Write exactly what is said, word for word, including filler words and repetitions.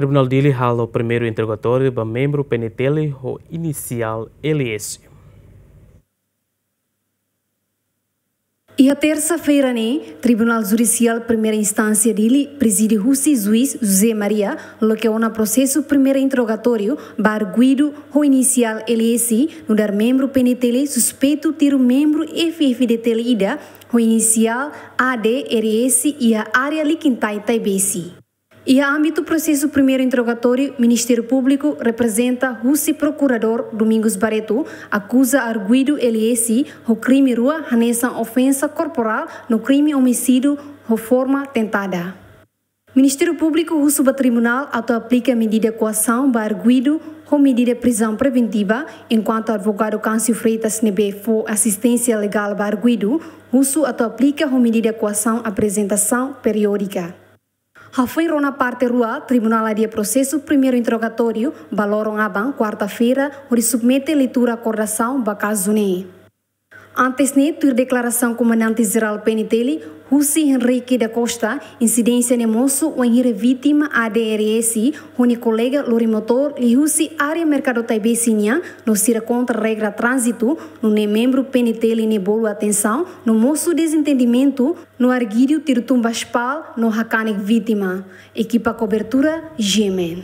Tribunál Dili halo primeiru interrogatóriu ba membru P N T L ho inisiál L S. Iha tersa-feira ne'e, Tribunál Judisiál Primeira Instánsia Dili, prezide husi juís José Maria, loke ona prosesu primeira interrogatóriu ba arguidu ho inisiál L S, nu'udar membru P N T L suspeitu tiru membru F F D T L ida ho inisiál A D R S iha área Likintai, Taibesi. Iha ámbitu prosesu primeiru interrogatóriu, Ministériu Públiku reprezenta husi Prokuradór Domingos Barreto akuza arguidu L S ho krime rua hanesan ofensa korporál no krime omisídiu ho forma tentada. Ministériu Públiku husu ba tribunál atu aplika medida koasaun ba arguidu ho medida prizaun preventiva, enkuantu advogadu Câncio Freitas ne'ebé fó asisténsia legál ba arguidu husu atu aplika ho medida koasaun aprezentasaun periódika. Hafoin rona parte rua, tribunál adia prosesu primeiru interrogatóriu ba loron aban, kuarta-feira, hodi submete leitura akordasaun ba kazu ne'e. Antes ne'e, tuir deklarasaun Komandante Jerál P N T L, husi Henrique da Costa, insidénsia ne'e mosu wainhira vítima A D R S ho nia kolega lori motór liuhusi área Merkadu Taibesi nian, no sira kontra regra tránzitu, nune'e membru P N T L ne'e bolu atensaun, no mosu dezentendimentu, no arguidu tiru tun ba espal no hakanek vítima. Ekipa kobertura, G M N.